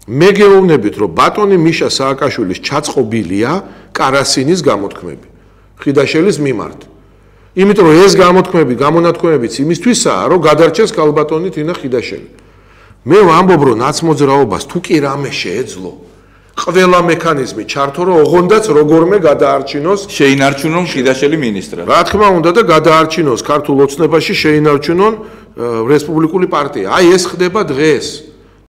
მე გეუბნებით, რომ ბატონი მიშა სააკაშვილის ჩაწყობილია კარასინის გამოთქმები ხიდაშელის მიმართ. იმიტომ რომ ეს გამოთქმები, გამონათქვამებიც იმისთვისაა, რომ გადარჩეს ქალბატონი თინა ხიდაშელი. მე ვამბობ, რომ ნაცმოძრაობას თუ კი რამე შეეძლო, ყველა მექანიზმი ჩართო, რომ ოღონდაც როგორმე გადაარჩინოს, შეინარჩუნონ ხიდაშელი მინისტრად. რა თქმა უნდა და გადაარჩინოს ქართულ ოცნებაში შეინარჩუნონ რესპუბლიკური პარტია. აი ეს ხდება დღეს.